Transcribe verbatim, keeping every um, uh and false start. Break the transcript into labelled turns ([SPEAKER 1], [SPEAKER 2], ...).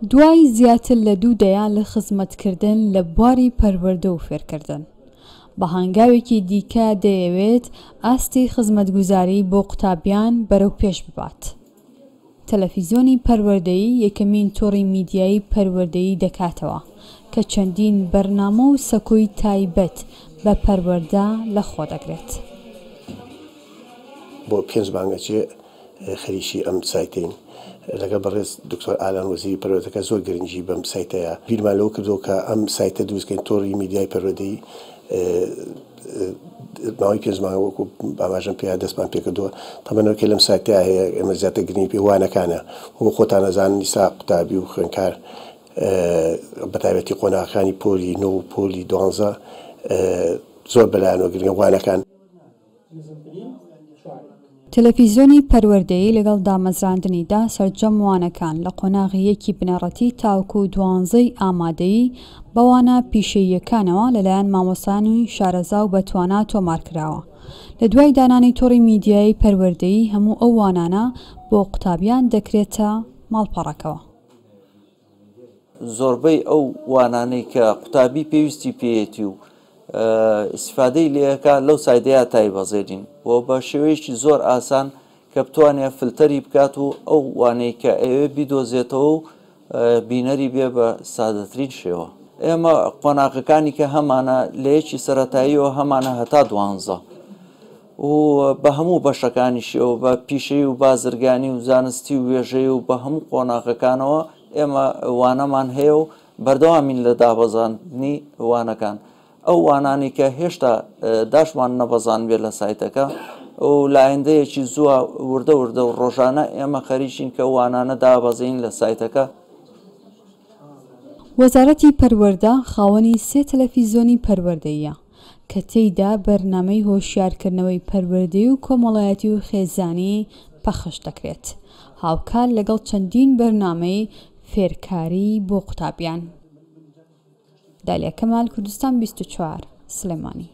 [SPEAKER 1] دوای زیاتر لە دوو دەیە لە خزمەتکردن لە بواری پەروەردە و فێرکردن، بە هەنگاوێکی دیکە دەیەوێت ئاستی خزمەتگوزاری بۆ قوتابیان بەرەو پێش ببات. تەلەفیزیۆنی پەروەردەیی یەکەمین تۆڕی میدیایی پەروەردەیی دەکاتەوە کە چەندین بەرنامە و سەکۆی تایبەت بە پەروەردە لەخۆ دەگرێت.
[SPEAKER 2] بۆ پێنج مانگەچێ خەریکی ئەم سایتین لەگەڵ بەڕێز دکتۆر ئالان وەزیری پەروەردەکە زۆر گرنگی بەم سایتەیە. بیرمان لەوە کردەوە کە ئەم سایتە دروستکەین، تۆڕی میدیای پەروەردەیی ماوەی پێنج مانگ وەکو ئاماژەم پێیا دەستمان پێکردووە. تەمەنەوە کە لەم سایتەیە هەیە ئێمە زیاتر گرنگی پێ وانەکانە، وەکو خۆتان ئەزانن ئیستا قوتابی و خوێندکار بەتایبەتی قۆناغەکانی پۆلی نۆ و پۆلی دوانزە زۆر بەلایەنەوە گرنگە وانەکان.
[SPEAKER 1] تەلەفیزیۆنی پەروەردەیی لەگەڵ دامەزراندنیدا سەرجەم وانەکان لە قۆناغی یەکی بنەڕەتی تاوەکو دوانزەی ئامادەیی بەوانە پیشەییەکانەوە لەلایەن مامۆستایانی شارەزا و بەتوانا تۆمار کراوە. لە دوای دانانی تۆڕی میدیایی پەروەردەیی هەموو ئەو وانانە بۆ قوتابیان دەکرێتە ماڵپەڕەکەوە.
[SPEAKER 3] زۆربەی ئەو وانانەی کە قوتابی پێویستی پێیەتی و ئیسفادەی لێەکە لەو سایدەیە تایبەزێنین و بە شێوەیەکی زۆر ئاسان کە بتوانێت فلتەری بکات و ئەو وانەی کە ئەوێ بیدۆزێتەوە و بینەری بێ بە سادەترین شێوە. ئێمە قۆناغەکانی کە هەمانە لە یەکی سەرەتاییەوە هەمانە هەتا دوانزە و بە هەموو بەشەکانیشیەوە بە پیشەی و بازرگانی و زانستی و وێژەی و بە هەموو قۆناغەکانەوە ئێمە وانەمان هەیە و بەردەوامین لە دابەزاندنی وانەکان. ئەو وانانی کە هێشتا داشمان نەبەزان بێت لە سایتەکە و لایەندەیەکی زووە وردە وردە و ڕۆژانە ئێمە خەریکین کە وانانە دابەزین لە سایتەکە.
[SPEAKER 1] وەزارەتی پەروەردە خاوەنی سێ تەلەفیزیۆنی پەروەردەیە کە تێیدا بەرنامەی هۆشیارکردنەوەی پەروەردەی و کۆمەڵایەتی و خێزانی پەخش دەکرێت، هاوکات لەگەڵ چەندین بەرنامەی فێرکاری بۆ قوتابیان. دالیا کەمال، کوردستان بیست و چوار، سلێمانی.